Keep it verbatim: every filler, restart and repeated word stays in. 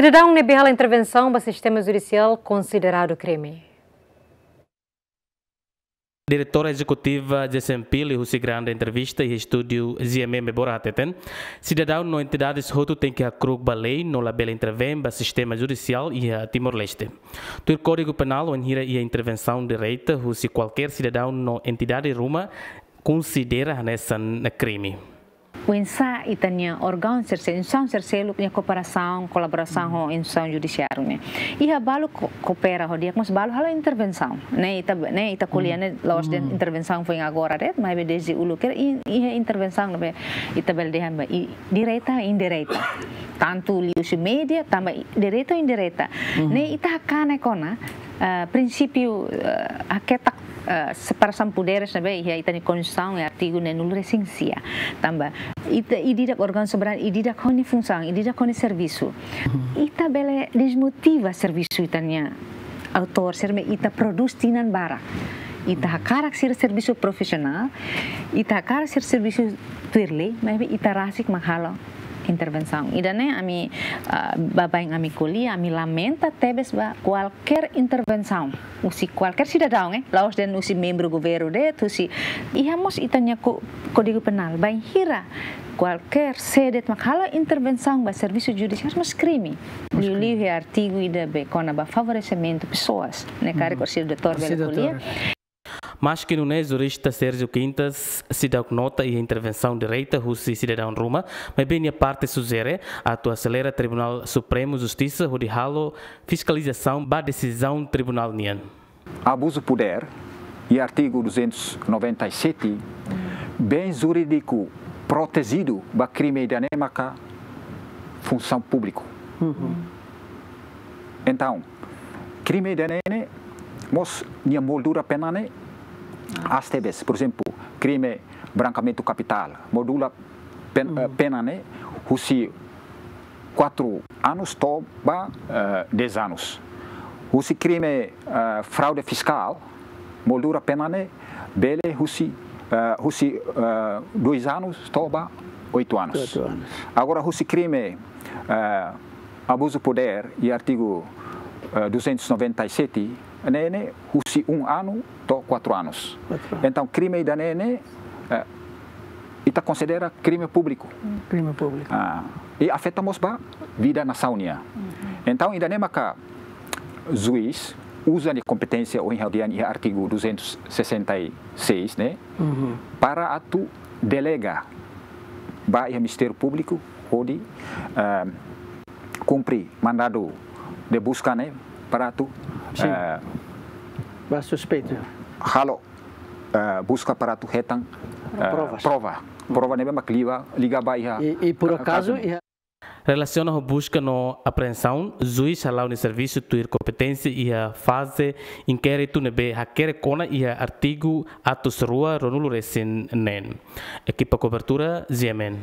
Sidadaun ne'ebé halo intervensaun ba sistema judisiál konsideradu krime. Diretora Ezekutiva Jessempil husi Grande Entrevista iha estúdiu G M M Bora hateten, sidadaun no entidades hotu tenke hakru'uk ba lei no labele intervein ba sistema judisiál iha Timor-Leste. Tuir Kódigu Penál, wainhira iha intervensaun direta husi kualkér sidadaun no entidade ruma, konsidera hanesan krime. Oinsá ita-nia órgaun sel-, instituisaun sel-, seluk nia kooperasaun, kolaborasaun ho instituisaun judisiáriu ne'e. Iha balu ko-, koopera ho di'ak, mas balu halo intervensaun. Ne'e ita, ne'e ita ko'alia ne'e la'ós de'it intervensaun foin agora de'it, maibé dezde uluk kedas i-, iha intervensaun ne'ebé ita bele dehan ba i-, direta, indireta. Tantu liuhusi média, tanba i-, direta ou indireta. Ne'e ita hakanek ona, eh, prinsípiu, eh, haketak, eh, separasaun poderes ne'ebé iha ita-nia Konstituisaun iha artigu neenulu-resin-sia. Tanba ita, ida-idak órgaun soberanu, ida-idak ho nia funsaun, ida-idak ho nia servisu. Ita bele desmotiva servisu ita-nia autór sira ne'ebé ita prodús tinan barak. Ita hakarak sira servisu profisionál, ita hakarak sira servisu tuir lei, maibé ita rasik mak halo intervensaun. Ida-ne'e ami, ah, baibain ami ko'alia, ami lamenta tebes ba kualkér intervensaun husi kualkér sidadaun, eh, la'ós de'it husi membru governu de'it, husi, iha mós ita-nia ko-, Kódigu Penál, bainhira kualkér sé de'it mak halo intervensaun ba servisu judisiáriu mós krime. Liuliu iha artigu ida ne'ebé kona-ba favoresimentu pesoas, ne'e karik orsida doutór bele ko'alia. Maski nune'e, jurista Sérgio Quintas seidauk nota iha intervensaun direta husi sidadaun ruma, maibé nia parte sujere atu aselera Tribunál Supremu Justisa hodi halo fiskalizasaun ba desizaun tribunál nian. Abuzu poder, iha artigu duzentos noventa e sete, bens jurídiku protejidu ba krime ida-ne'e maka funsaun públiku. Entaun, krime ida-ne'e ne'e mós nia moldura pena ne'e aas tebes. Por ezemplu, krime brankeamentu kapitál, moldura pen-, eh, pena ne'e husi quatro anos to'o ba, eh, dez anos. Husi krime, eh, fraude fiskál, moldura pena ne'e bele husi, eh, husi, eh, dois anos to'o ba oito anos. Oito anos. Agora, husi krime, eh, abuzu poder, iha artigu, eh, duzentos noventa e sete, ne'e ne'e husi um ano to'o quatro anos. Quatro anos. Entaun, krime ida-ne'e ne'e, eh, ita konsidera krime públiku. Krime públiku. Ah, i afeta mós ba vida nasaun nian. Entaun, ida-ne'e maka juís uza nia kompeténsia ohin ha'u dehan iha artigu duzentos sessenta e seis ne'e, para atu delega ba iha Ministériu Públiku hodi, eh, kumpre mandadu de buska ne'e para atu, eh, ba suspeitu halo, eh, buska para atu hetan, eh, prova. Prova ne'ebé mak liga, liga ba iha. I, i por acaso, iha. Relasiona ho buska no apreensaun, juís hala'o nia servisu tuir kompeténsia iha faze inkéritu ne'ebé hakerek ona iha artigu atus rua ruanulu-resin-neen. Ekipa kobertura, G M N.